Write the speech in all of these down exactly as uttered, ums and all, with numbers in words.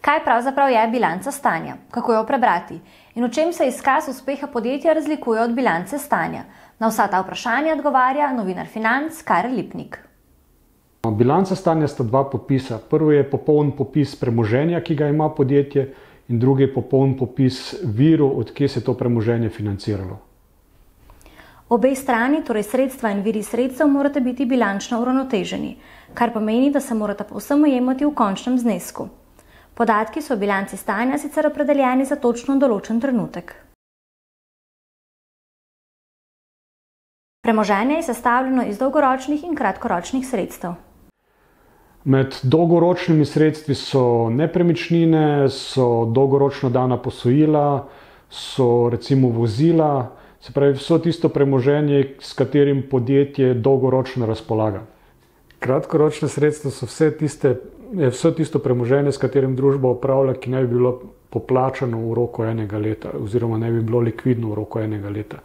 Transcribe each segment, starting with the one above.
Kaj pravzaprav je bilanca stanja? Kako jo prebrati? In v čem se izkaz uspeha podjetja razlikuje od bilance stanja? Na vsa ta vprašanja odgovarja novinar Financ Karel Lipnik. Bilanca stanja sta dva popisa. Prvo je popoln popis premoženja, ki ga ima podjetje, in drugi je popoln popis virov, od kje se to premoženje financiralo. Obe strani, torej sredstva in viri sredstev, morate biti bilančno uravnoteženi, kar pomeni, da se morata povsem ujemati v končnem znesku. Podatki so v bilanci stanja sicer opredeljeni za točno določen trenutek. Premoženje je sestavljeno iz dolgoročnih in kratkoročnih sredstev. Med dolgoročnimi sredstvi so nepremičnine, so dolgoročno dana posojila, so recimo vozila, se pravi vso tisto premoženje, s katerim podjetje dolgoročno razpolaga. Kratkoročne sredstva so vse tiste, vse tisto premoženje, s katerim družba upravlja, ki ne bi bilo poplačano v roku enega leta oziroma ne bi bilo likvidno v roku enega leta.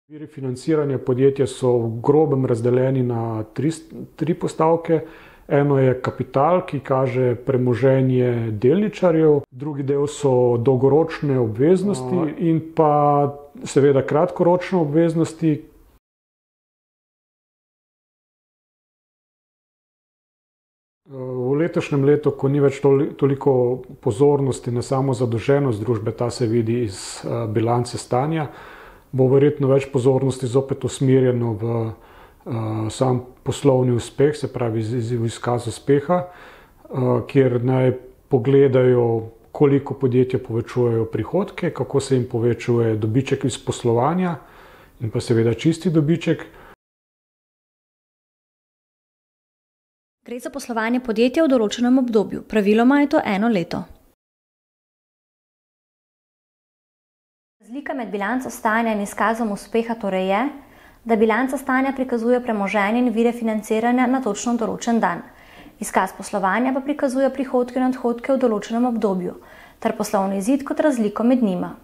Viri financiranja podjetja so v grobem razdeljeni na tri, tri postavke. Eno je kapital, ki kaže premoženje delničarjev, drugi del so dolgoročne obveznosti in pa seveda kratkoročne obveznosti. V letošnjem letu, ko ni več toliko pozornosti na samo zadolženost družbe, ta se vidi iz bilance stanja, bo verjetno več pozornosti zopet usmerjeno v sam poslovni uspeh, se pravi v izkaz uspeha, kjer naj pogledajo, koliko podjetja povečujejo prihodke, kako se jim povečuje dobiček iz poslovanja in pa seveda čisti dobiček. Gre za poslovanje podjetja v določenem obdobju, praviloma je to eno leto. Razlika med bilanco stanja in izkazom uspeha torej je, da bilanca stanja prikazuje premoženje in vire financiranja na točno določen dan. Izkaz poslovanja pa prikazuje prihodke in odhodke v določenem obdobju ter poslovni izid kot razliko med njima.